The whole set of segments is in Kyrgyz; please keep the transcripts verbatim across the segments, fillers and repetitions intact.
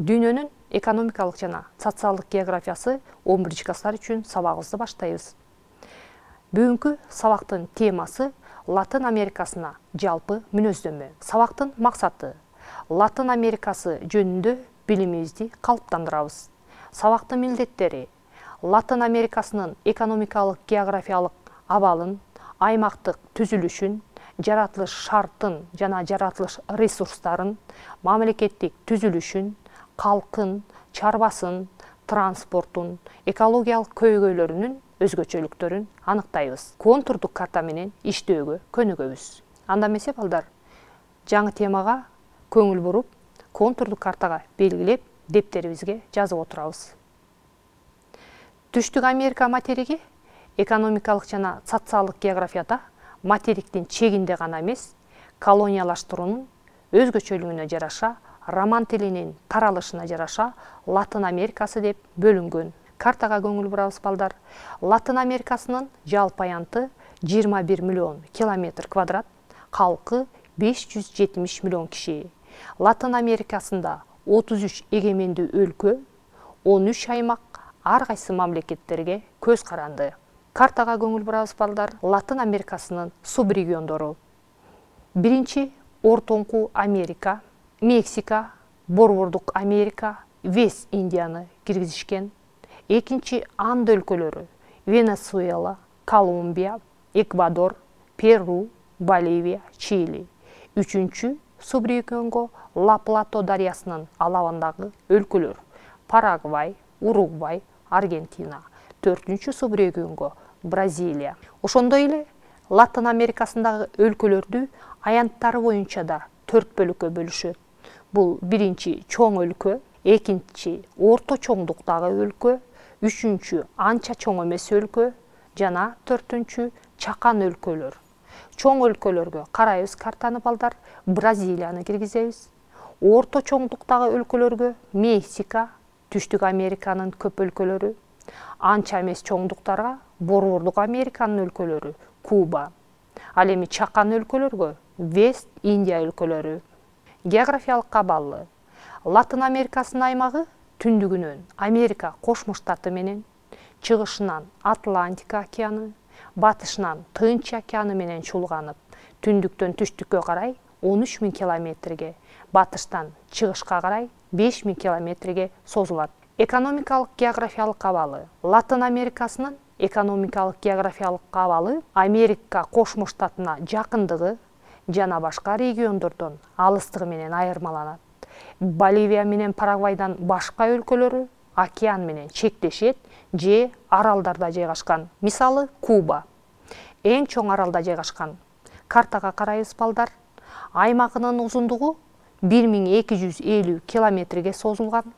Дүйнөнүн экономикалык жана социалдык географиясы он биринчи класстар үчүн сабагыбызды баштайбыз. Бүгүнкү сабактын темасы Латын Америкасына жалпы мүнөздөмө. Сабактын максаты Латын Америкасы жөнүндө билимибизди калыптандырабыз. Сабактын милдеттери Латын Америкасынын экономикалык географиялык абалын, аймактык түзүлүшүн, жаратылыш шартын жана жаратылыш ресурстарын, мамлекеттик түзүлүшүн, калкын, чарбасын, транспортун, экологиялык көйгөйлөрүнүн өзгөчөлүктөрүн аныктайбыз. Контурдук карта менен иштөөгө көнүгөбүз. Анда эмесе балдар, жаңы темага көңүл буруп, контурдук картага белгилеп, дептерибизге жазып отурабыз. Түштүк Америка материги экономикалык жана социалдык географияда материктин чегинде гана эмес, колониялаштыруунун өзгөчөлүгүнө жараша, роман тилинин таралышына жараша Латын Америкасы деп бөлүнгөн. Картага көңүл бурабыз балдар. Латын Америкасынын жалпы аянты жыйырма бир миллион километр квадрат, калкы беш жүз жетимиш миллион киши. Латын Америкасында отуз үч эгемендүү өлкө, он үч аймак, ар кайсы мамлекеттерге көз каранды. Картага көңүл бурабыз балдар. Латын Америкасынын субрегиондору. Биринчи Ортоңку Америка, Мексика, Борбордук Америка, Вест Индияны киргизишкен. Экинчи Анд өлкөлөрү: Венесуэла, Колумбия, Эквадор, Перу, Боливия, Чили. Үчүнчү субрегионго Ла-Плато дарыясынын алабындагы өлкөлөр: Парагвай, Уругвай, Аргентина. Төртүнчү субрегионго Бразилия. Ошондой эле Латын Америкасындагы өлкөлөрдү аянттары боюнча да төрт бөлүккө бөлүшөт. Бул биринчи чоң өлкө, экинчи орто чоңдуктагы өлкө, үчүнчү анча чоң эмес өлкө жана төртүнчү чакан өлкөлөр. Чоң өлкөлөргө карайбыз картаны балдар, Бразилияны киргизебиз. Орто чоңдуктагы өлкөлөргө Мексика, Түштүк Американын көп өлкөлөрү. Анча эмес чоңдуктарга Борбордук Американын өлкөлөрү, Куба. Ал эми чакан өлкөлөргө Вест Индия өлкөлөрү. Географиялык абалы: Латын Америкасынын аймагы түндүгүнөн Америка Кошмо Штаты менен, чыгышынан Атлантика океаны, батышынан Тынч океаны менен чуулганып, түндүктөн түштүккө карай он үч миң километрге, батыштан чыгышка карай беш миң километрге созулат. Экономикалык географиялык абалы: Латын Америкасынын экономикалык географиялык абалы Америка Кошмо Штатына жакындыгы жана башка региондордон алыстыгы менен айырмаланат. Боливия менен Парагвайдан башка өлкөлөрү океан менен чектешет же аралдарда жайгашкан. Мисалы, Куба эң чоң аралда жайгашкан. Картага карайбыз балдар. Аймагынын узундугу бир миң эки жүз элүү километрге созулган.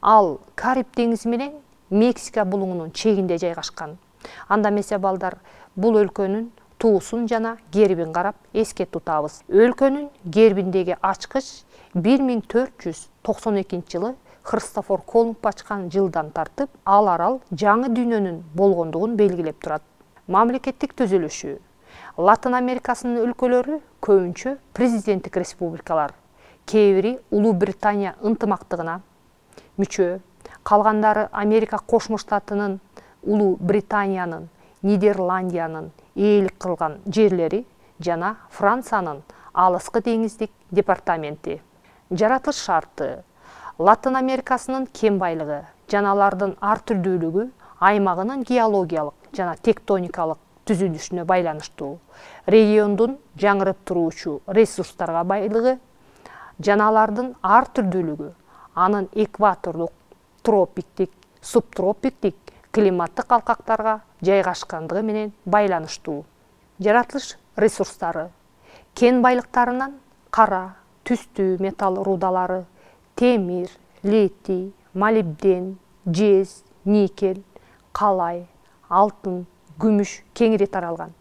Ал Кариб деңизи менен Мексика булуңунун чегинде жайгашкан. Анда эмесе балдар, бул өлкөнүн туусун жана гербин карап эске тутабыз. Өлкөнүн гербиндеги ачкыч бир миң төрт жүз токсон экинчи жылы Христофор Колумб ачкан жылдан тартып, ал арал жаңы дүйнөнүн болгондугун белгилеп турат. Мамлекеттик түзүлүшү: Латын Америкасынын өлкөлөрү көбүнчө президенттик республикалар. Кээ бири Улуу Британия ынтымактыгына мүчө, калгандары Америка Кошмо Штатынын, Улуу Британиянын, Нидерландиянын ээлик кылган жерлери жана Франциянын алыскы деңиздик департаменти. Жаратылыш шарты: Латын Америкасынын кен байлыгы жана алардын ар түрдүүлүгү аймагынын геологиялык жана тектоникалык түзүлүшүнө байланыштуу. Региондун жаңырып туруучу ресурстарга байлыгы жана алардын ар түрдүүлүгү анын экватордук, тропиктик, субтропиктик климаттык алкактарга жайгашкандыгы менен байланыштуу. Жаратылыш ресурстары: кен байлыктарынан кара, түстүү металл рудалары, темир, литий, молибден, жез, никель, калай, алтын, күмүш кеңири таралган.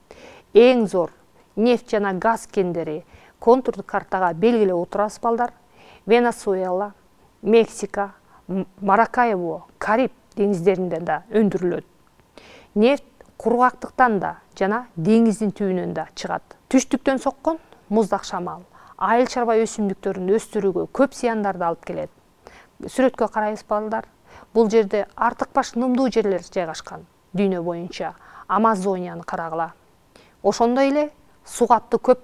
Эң зор нефть жана газ кендери контурдук картага белгилеп отурабыз балдар. Венесуэла, Мексика, Маракайбо, Кариб деңиздеринде да өндүрүлөт. Нефть кургактыктан да жана деңиздин түбүнөн да чыгат. Түштүктөн соккон муздак шамал айыл чарба өсүмдүктөрүн өстүрүүгө көп зыяндарды алып келет. Сүрөткө карайбыз балдар. Бул жерде артыкбаш нымдуу жерлер жайгашкан дүйнө боюнча. Амазонияны карагыла. Ошондой эле суга аттуу көп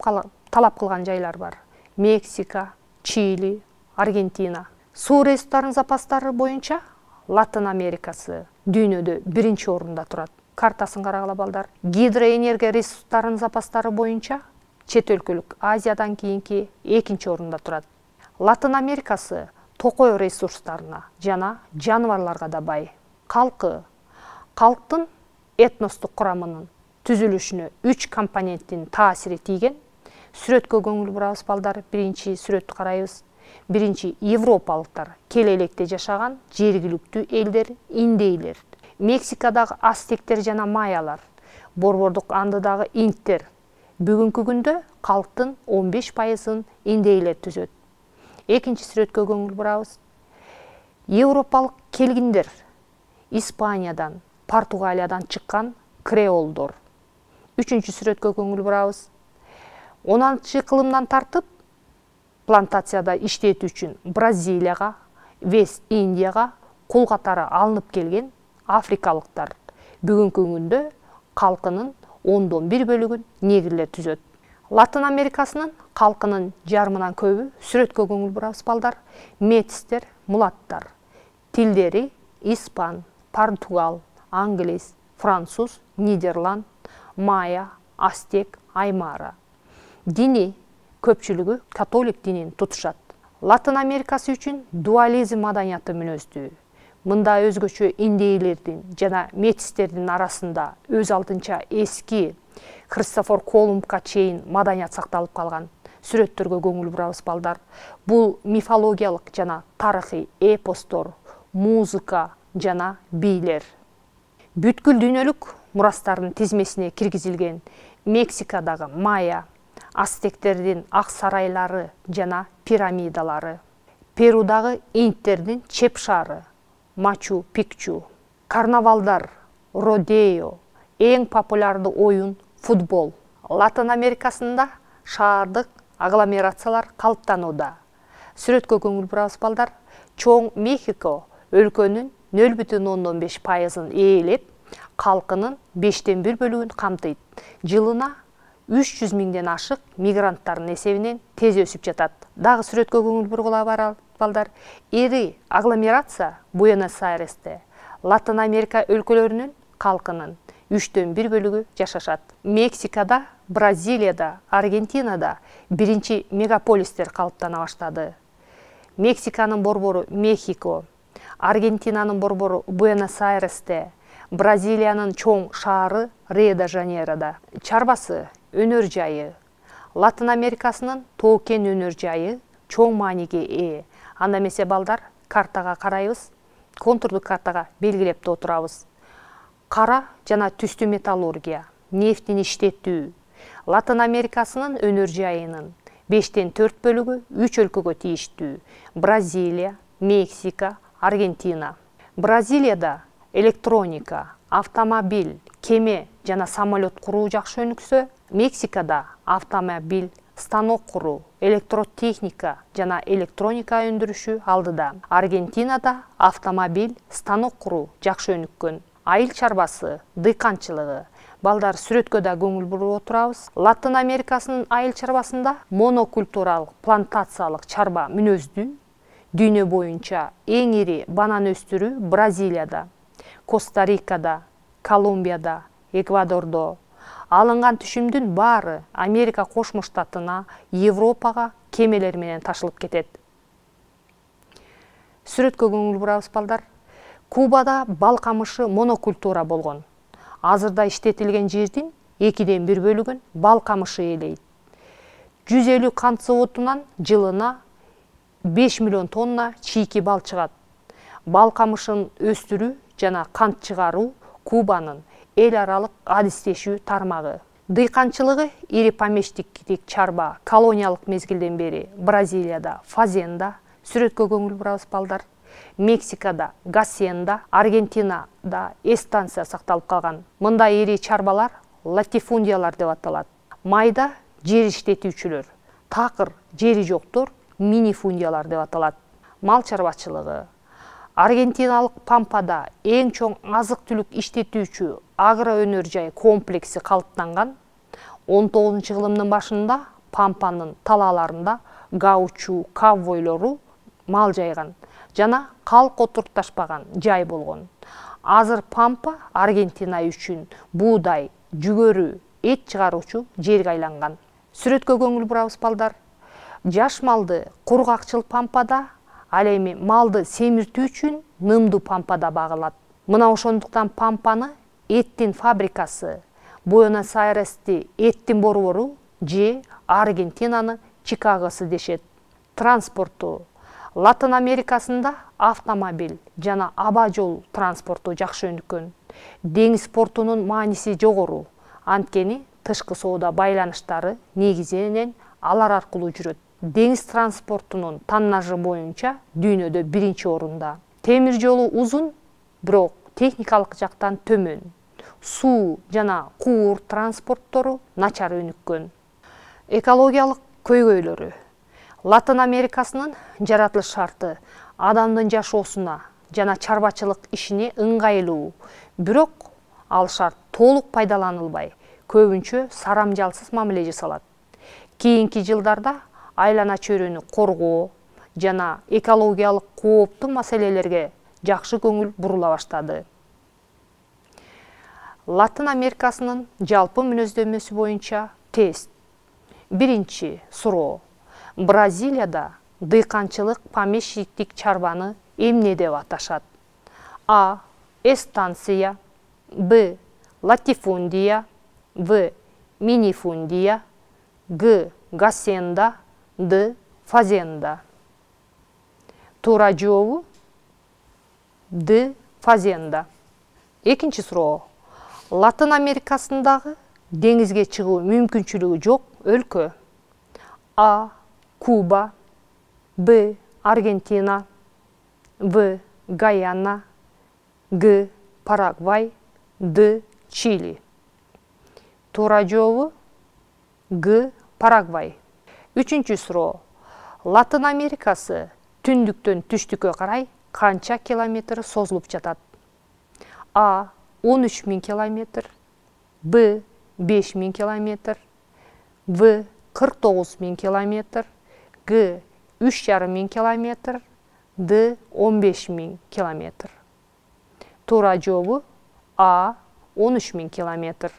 талап кылган жайлар бар. Мексика, Чили, Аргентина. Суу ресурстарынын запастары боюнча Латын Америкасы дүйнөдө биринчи орунда турат. Картасын карагыла балдар. Гидроэнергия ресурстарынын запастары боюнча чет өлкөлүк Азиядан кийинки экинчи орунда турат. Латын Америкасы токой ресурстарына жана жаныбарларга да бай. Калкы. Калктын этностук курамынын түзүлүшүнө үч компоненттин таасири тийген. Сүрөткө көңүл бурабыз балдар. Биринчи сүрөттү карайбыз. Биринчи европалыктар кел электе жашаган жергиликтүү элдер индейлер. Мексикадагы астектер жана майялар, борбордук андыдагы инктер. Бүгүнкү күндө калктын он беш пайызын индейлер түзөт. Экинчи сүрөткө көңүл бурабыз. Европалык келгиндер Испаниядан, Португалиядан чыккан креолдор. Үчүнчү сүрөткө көңүл бурабыз. он алтынчы кылымдан тартып плантацияда иштетүү үчүн Бразилияга, Вест Индияга кул катары алынып келген африкалыктар бүгүнкү күндө калкынын ондон бир бөлүгүн негрлер түзөт. Латын Америкасынын калкынын жарымынан көбү сүрөткө көңүл бурабыз балдар. Метистер, мулаттар. Тилдери испан, португал, англис, француз, нидерланд, майя, астек, аймара. Дини көпчүлүгү католик динин тутушат. Латын Америкасы үчүн дуализм маданияты мүнөздүү. Мында өзгөчө индейлердин жана метистердин арасында өз алдынча эски Христофор Колумбка чейин маданият сакталып калган. Сүрөттөргө көңүл бурабыз балдар. Бул мифологиялык жана тарыхый эпостор, музыка жана бийлер. Бүткүл дүйнөлүк мурастардын тизмесине киргизилген Мексикадагы майя, астектердин ак сарайлары жана пирамидалары. Перудагы инктердин чеп шаары, Мачу Пикчу. Карнавалдар, родео, эң популярдуу оюн футбол. Латын Америкасында шаардык агломерациялар калыптанууда. Сүрөткө көңүл бурабыз балдар. Чоң Мехико өлкөнүн нөл бүтүн ондон беш пайызын ээлеп, калкынын бештен бир бөлүгүн камтыйт. Жылына үч жүз миңден ашык мигранттардын эсебинен тез өсүп жатат. Дагы сүрөткө көңүл бургула балдар. Эри агломерация Буэнос-Айресте Латын Америка өлкөлөрүнүн калкынын үчтөн бир бөлүгү жашашат. Мексикада, Бразилияда, Аргентинада биринчи мегаполистер калыптана баштады. Мексиканын борбору Мехико, Аргентинанын борбору Буэнос-Айресте, Бразилиянын чоң шаары Рио-де-Жанейрода. Чарбасы өнөр жайы. Латын Америкасынын тоо кен өнөр жайы чоң мааниге ээ. Анда эмесе балдар, картага карайбыз, контурдук картага белгилеп отурабыз. Кара жана түстүү металлургия, нефтин иштетүү. Латын Америкасынын өнөр жайынын бештен төрт бөлүгү үч өлкөгө тийиштүү. Бразилия, Мексика, Аргентина. Бразилияда электроника, автомобиль, кеме жана самолет куруу жакшы өнүксө, Мексикада автомобиль, станок куруу, электротехника жана электроника өндүрүшү алдыда. Аргентинада автомобиль, станок куруу жакшы өнүккөн. Айыл чарбасы, дыйканчылыгы. Балдар, сүрөткө да көңүл буруп отурабыз. Латын Америкасынын айыл чарбасында монокультуралык, плантациялык чарба мүнөздүү. Дүйнө боюнча эң ири банан өстүрүү Бразилияда, Коста-Рикада, Колумбияда, Эквадордо. Алынган түшүмдүн баары Америка Кошмо Штатына, Европага кемелер менен ташылып кетет. Сүрөткө көңүл бурабыз балдар. Кубада бал камышы монокультура болгон. Азырда иштетилген жердин экиден бир бөлүгүн бал камышы ээлейт. жүз элүү кант заводунан жылына беш миллион тонна чийки бал чыгат. Бал камышын өстүрүү жана кант чыгаруу Кубанын эл аралык адистешүү тармагы. Дыйканчылыгы ири помещиктик чарба колониялык мезгилден бери Бразилияда фазенда. Сүрөткө көңүл бурабыз балдар. Мексикада гасенда, Аргентинада эстанция сакталып калган. Мында ири чарбалар латифундиялар деп аталат. Майда жер иштетүүчүлөр, такыр жери жоктор минифундиялар деп аталат. мал чарбачылыгы. Аргентиналык Пампада эң чоң азык-түлүк иштетүүчү агроөнөр жай комплекси калыптанган. он тогузунчу кылымдын башында Пампанын талааларында гаучу ковбойлору мал жайган жана калк отурташпаган жай болгон. Азыр Пампа Аргентина үчүн буудай, жүгөрү, эт чыгаруучу жерге айланган. Сүрөткө көңүл бурабыз балдар. Жаш малды кургакчыл Пампада, ал эми малды семиртүү үчүн нымдуу Пампада багылат. Мына ошондуктан Пампаны эттин фабрикасы, Буэнос-Айрести эттин борбору же Аргентинаны Чикагосы дешет. Транспорту. Латын Америкасында автомобиль жана аба жол транспорту жакшы өнүккөн. Деңиз портунун мааниси жогору, анткени тышкы соода байланыштары негизинен алар аркылуу жүрөт. Деңиз транспортунун таннажы боюнча дүйнөдө биринчи орунда. Темир жолу узун, бирок техникалык жактан төмөн. Суу жана куур транспорттору начар өнүккөн. Экологиялык көйгөйлөрү. Латын Америкасынын жаратылыш шарты адамдын жашоосуна жана чарбачылык ишине ыңгайлуу, бирок ал шарт толук пайдаланылбай, көбүнчө сарамжалсыз мамиле жасалат. Кийинки жылдарда айлана чөйрөнү коргоо жана экологиялык кооптуу маселелерге жакшы көңүл бурула баштады. Латын Америкасынын жалпы мүнөздөмөсү боюнча тест. Биринчи суроо. Бразилияда дыйканчылык помещиктик чарбаны эмне деп аташат? А. Эстанция. Б. Латифундия. В. Минифундия. Г. Гасенда. Д. Фазенда. Туура жообу Д. Фазенда. Экинчи суроо. Латын Америкасындагы деңизге чыгуу мүмкүнчүлүгү жок өлкө. А. Куба. Б. Аргентина. В. Гаяна. Г. Парагвай. Д. Чили. Туура жообу Г. Парагвай. Үчүнчү суроо. Латын Америкасы түндүктөн түштүккө карай канча километр созулуп жатат? А. он үч миң километр. Б. беш миң километр. В. кырк тогуз миң километр. Г. үч жарым миң километр. Д. он беш миң километр. Туура жообу А. он үч миң километр.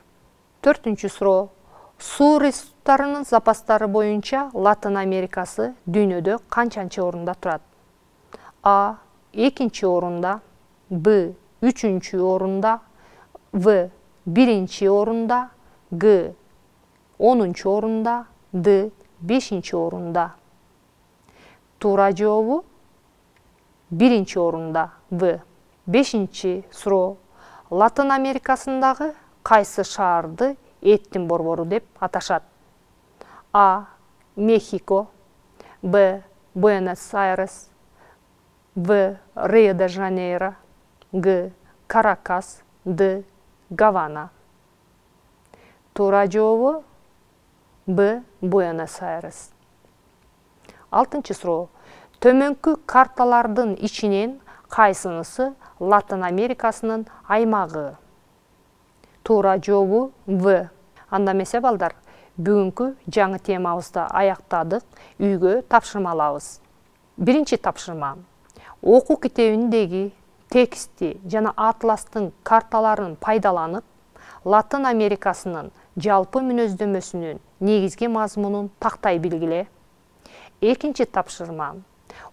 Төртүнчү суроо. Суу ресурстарынын запастары боюнча Латын Америкасы дүйнөдө канчанчы орунда турат? А. экинчи орунда. Б. үчүнчү орунда. В. биринчи орунда. Г. онунчу орунда. Д. бешинчи орунда. Туура жообу биринчи орунда. В. Бешинчи суроо. Латын Америкасындагы кайсы шаарды эттин борбору деп аташат? А. Мехико. Б. Буэнос-Айрес. В. Рио-де-Жанейро. Г. Каракас. Д. Гавана. Туура жообу Б. Буэнос-Айрес. Алтынчы суроо. Төмөнкү карталардын ичинен кайсынысы Латын Америкасынын аймагы? Туура жообу В. Анда эмесе балдар, бүгүнкү жаңы темабызды аяктадык, үйгө тапшырма алабыз. Биринчи тапшырма. Окуу китебиндеги тексти жана атластын карталарын пайдаланып, Латын Америкасынын жалпы мүнөздөмөсүнүн негизги мазмунун тактай билгиле. Экинчи тапшырма.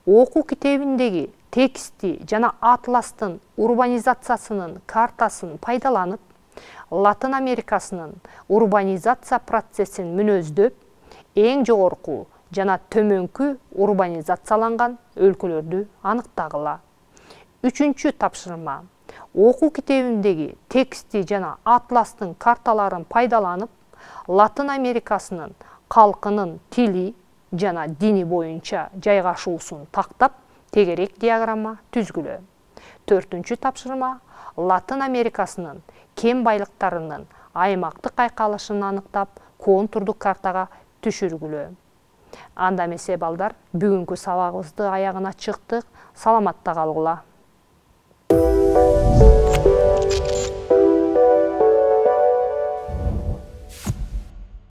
Окуу китебиндеги тексти жана атластын урбанизациясынын картасын пайдаланып, Латын Америкасынын урбанизация процессин мүнөздөп, эң жогорку жана төмөнкү урбанизацияланган өлкөлөрдү аныктагыла. Үчүнчү тапшырма. Окуу китебиндеги тексти жана атластын карталарын пайдаланып, Латын Америкасынын калкынын тили жана дини боюнча жайгашуусун тактап, тегерек диаграмма түзгүлө. Төртүнчү тапшырма. Латын Америкасынын кен байлыктарынын аймактык айкалышын аныктап, контурдук картага түшүргүлө. Анда эмесе балдар, бүгүнкү сабагыбызды аягына чыктык. Саламатта калгыла.